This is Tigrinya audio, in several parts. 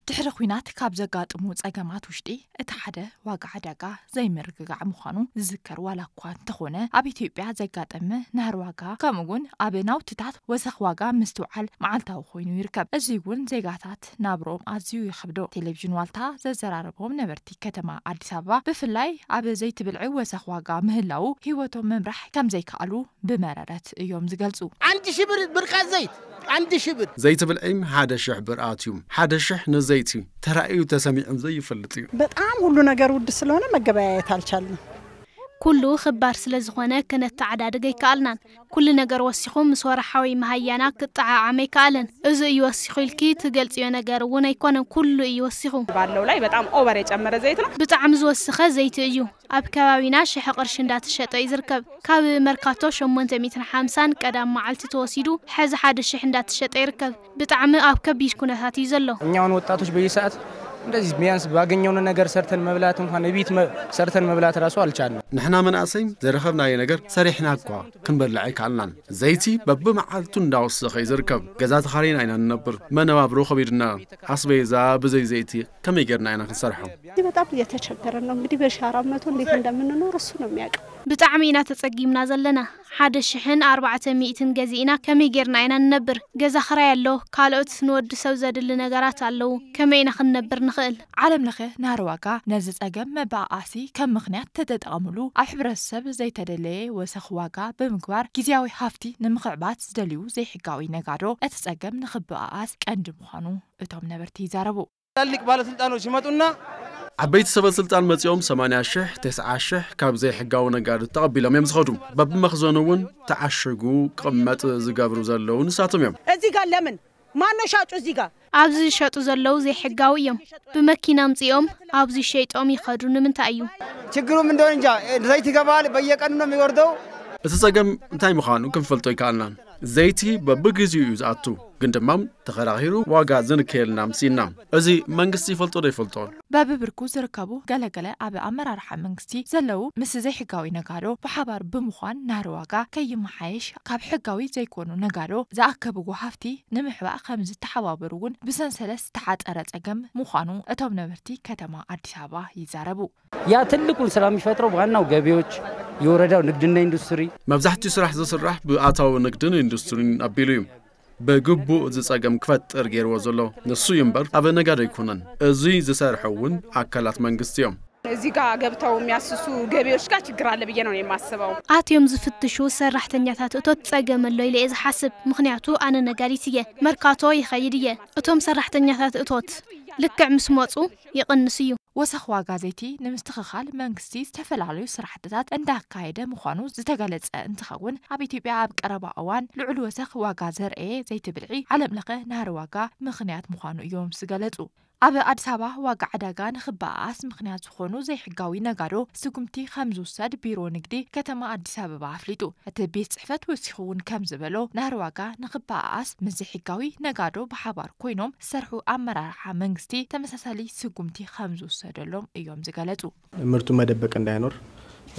ድሕሪ ኲናት ካብ ዘጋጥሙ ጸገማት ውሽጢ እቲ ሓደ ዋጋ ዕዳጋ ዘይምርግጋዕ ምዃኑ ዝዝከር ዋላ እኳ እንተኾነ፣ ኣብ ኢትዮጵያ ዘጋጠመ ናህሪ ዋጋ ከምኡ እውን ኣብ ናውትታት ወሰኽ ዋጋ ምስትውዓል መዓልታዊ ኮይኑ ይርከብ። እዚ እውን ዜጋታት ናብርኦም ኣዝዩ የኽብዶ። ቴሌቪዥን ዋልታ ዘዘራረቦም ነበርቲ ከተማ ኣዲስ ኣበባ፣ ብፍላይ ኣብ ዘይቲ ብልዒ ወሰኽ ዋጋ ምህላዉ ህይወቶም ምምራሕ ከም ዘይከኣሉ ብመረረት እዮም ዝገልጹ። አንድ ሺህ ብር ብርቃት ዘይት፣ አንድ ሺህ ብር። ዘይቲ ብልዒ ሓደ ሽሕ ብር ኣትዩ። ሓደ ሽሕ ንዘይቲ ተራእዩ ተሰሚዑ ዘይፈልጥ እዩ። በጣም ሁሉ ነገር ውድ ስለሆነ መገበያየት አልቻልንም። ኩሉ ክባር ስለ ዝኾነ ክነተዓዳድግ ኣይከኣልናን። ኩሉ ነገር ወሲኹ ምስ ወርሓዊ መሃያና ክጠዓዓም ኣይከኣለን። እዚ እዩ ወሲኹ ኢልኪ ትገልጽዮ ነገር እውን ኣይኮነን፣ ኩሉ እዩ ወሲኹ። ባለው ላይ በጣም ኦቨር የጨመረ ዘይት ነው። ብጣዕሚ ዝወሰኸ ዘይቲ እዩ። ኣብ ከባቢና ሽሕ ቅርሺ እንዳተሸጠ እዩ ዝርከብ። ካብ መርካቶ ሸሞንተ ሚእትን ሓምሳን ቀዳም መዓልቲ ተወሲዱ ሕዚ ሓደ ሽሕ እንዳተሸጠ ይርከብ። ብጣዕሚ ኣብ ከቢድ ኩነታት እዩ ዘሎ። እኛ አሁን ወጣቶች በየሰዓት እንደዚህ ቢያንስ ባገኘውን ነገር ሰርተን መብላት እንኳን እቤት መ- ሰርተን መብላት ራሱ አልቻልንም። ንሕና መናእሰይ ዘረኸብናዮ ነገር ሰሪሕና እኳ ክንበልዕ ኣይከኣልናን። ዘይቲ በብመዓልቱ እንዳወሰኸ እዩ ዝርከብ። ገዛ ተኻሪና ኢና ንነብር። መነባብሮ ከቢድና። ኣስቤዛ ብዘይ ዘይቲ ከመይ ጌርና ኢና ክንሰርሖ? እዚህ በጣም እየተቸገረን ነው እንግዲህ በሺ አራት መቶ እንዴት እንደምንኖር እሱ ነው የሚያውቀው። ብጣዕሚ ኢና ተጸጊምና ዘለና። ሓደ ሽሕን ኣርባዕተ ሚእትን ገዚእና ከመይ ጌርና ኢና ንነብር? ገዛ ክራይ ኣሎ፣ ካልኦት ንወዲ ሰብ ዘድሊ ነገራት ኣለዉ። ከመይ ኢና ክንነብር ንኽእል? ዓለም ለኸ ናህሪ ዋጋ ነዚ ጸገም መበኣኣሲ ከም ምኽንያት ተተጠቐምሉ፣ ኣብ ሕብረተሰብ ዘይተደለየ ወሰኽ ዋጋ ብምግባር ግዜያዊ ሃፍቲ ንምኽዕባት ዝደልዩ ዘይሕጋዊ ነጋዶ እቲ ጸገም ንኽበኣኣስ ቀንዲ ምዃኑ እቶም ነበርቲ ይዛረቡ። ትላልቅ ባለስልጣኖች ይመጡና ዓበይቲ ሰበ ስልጣን መጺኦም ሰማንያ ሽሕ፣ ተስዓ ሽሕ ካብ ዘይሕጋዊ ነጋዶ ተቐቢሎም እዮም ዝኸዱ። በብመኽዘኑ እውን ተዓሽጉ ክቕመጥ ዝገብሩ ዘለዉ ንሳቶም እዮም። እዚህ ጋር ለምን ማነው ሻጩ እዚህ ጋር? ኣብዚ ዝሸጡ ዘለዉ ዘይሕጋዊ እዮም። ብመኪና ኣምጺኦም ኣብዚ ሸይጦም ይኸዱ ንምንታይ እዩ? ችግሩም እንደሆነ እንጃ። ዘይት ይገባል፣ በየቀኑ ነው የሚወርደው። እቲ ጸገም እንታይ ምዃኑ ክንፈልጦ ኣይከኣልናን። ዘይቲ በብግዚኡ እዩ ዝኣቱ፣ ግን ድማ ተኸራኺሩ ዋጋ ዝንከየልና ምሲና። እዚ መንግስቲ ይፈልጦ ዶ ይፈልጦ? በብብርኩ ዝርከቡ ገለገለ ኣብ ኣመራርሓ መንግስቲ ዘለዉ ምስ ዘይሕጋዊ ነጋዶ ብሓባር ብምዃን ናህሪ ዋጋ ከይመሓየሽ ካብ ሕጋዊ ዘይኮኑ ነጋዶ ዝኣከብዎ ሃፍቲ ንምሕባእ ከም ዝተሓባበሩ እውን ብሰንሰለት ዝተሓጸረ ጸገም ምዃኑ እቶም ነበርቲ ከተማ ኣዲስ ኣበባ ይዛረቡ። ያ ትልቁን ስራ የሚፈጥረው ዋናው ገቢዎች፣ የወረዳው ንግድና ኢንዱስትሪ። መብዛሕትኡ ስራሕ ዝስራሕ ብኣታዊ ንግድን ኢንዱስትሪን ኣቢሉ እዩ ብግቡእ እዚ ጸገም ክፈጥር ገይርዎ ዘሎ ንሱ እዩ እምበር ኣብ ነጋዶ ኣይኮነን። እዚ ዝሰርሑ እውን ኣካላት መንግስቲ እዮም። እዚህ ጋር ገብተው የሚያስሱ ገቢዎች ጋር ችግር አለ ብዬ ነው የማስበው። ኣትዮም ዝፍትሹ ሰራሕተኛታት እቶት ጸገም ኣሎ ኢለ እየ ዝሓስብ። ምኽንያቱ ኣነ ነጋዲት እየ፣ መርካቶ ይኸይድ እየ። እቶም ሰራሕተኛታት እቶት ልክዕ ምስ መጹ ይቕንስ እዩ። ወሰኽ ዋጋ ዘይቲ ንምስትኽኻል መንግስቲ ዝተፈላለዩ ስራሕትታት እንዳካየደ ምዃኑ ዝተገለጸ እንትኸውን፣ ኣብ ኢትዮጵያ ኣብ ቀረባ እዋን ልዑል ወሰኽ ዋጋ ዘርአየ ዘይቲ ብልዒ ዓለም ለኸ ናህሪ ዋጋ ምኽንያት ምዃኑ እዮም ዝገለጹ። ኣብ ኣዲስ ኣበባ ዋጋ ዕዳጋ ንኽበኣኣስ ምኽንያት ዝኾኑ ዘይሕጋዊ ነጋዶ ስጉምቲ ከም ዝውሰድ ቢሮ ንግዲ ከተማ ኣዲስ ኣበባ ኣፍሊጡ። እቲ ቤት ጽሕፈት ወሲኹ እውን ከም ዝበሎ፣ ናህሪ ዋጋ ንኽበኣኣስ ምስ ዘይሕጋዊ ነጋዶ ብሓባር ኮይኖም ዝሰርሑ ኣመራርሓ መንግስቲ ተመሳሳሊ ስጉምቲ ከም ዝውሰደሎም እዮም ዝገለጹ። ምርቱን መደበቅ እንዳይኖር፣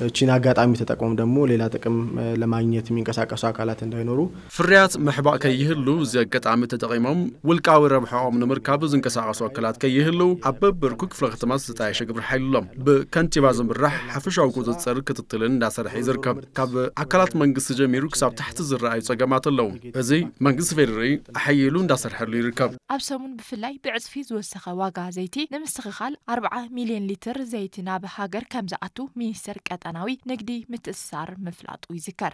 እቺን አጋጣሚ ተጠቅመው ደግሞ ሌላ ጥቅም ለማግኘት የሚንቀሳቀሱ አካላት እንዳይኖሩ። ፍርያት ምሕባእ ከይህሉ እዚ ኣጋጣሚ ተጠቒሞም ውልቃዊ ረብሓኦም ንምርካብ ዝንቀሳቐሱ ኣካላት ከይህሉ ኣብ በብርኩ ክፍለ ከተማ ዝተጣየሸ ግብረ ሓይሊ ኣሎ። ብከንቲባ ዝምራሕ ሓፈሻዊ ቁፅፅር ክትትልን እንዳሰርሐ እዩ ዝርከብ። ካብ ኣካላት መንግስቲ ጀሚሩ ክሳብ ታሕቲ ዝረኣዩ ፀገማት ኣለዉ። እዚ መንግስቲ ፌዴራል ኣሐይሉ እንዳሰርሐሉ ይርከብ። ኣብ ሰሙን ብፍላይ ብዕፅፊ ዝወሰኸ ዋጋ ዘይቲ ንምስትኽኻል ኣርብዓ ሚልዮን ሊትር ዘይቲ ናብ ሃገር ከም ዝኣቱ ሚኒስቴር ቀጠናዊ ንግዲ ምትእስሳር ምፍላጡ ይዝከር።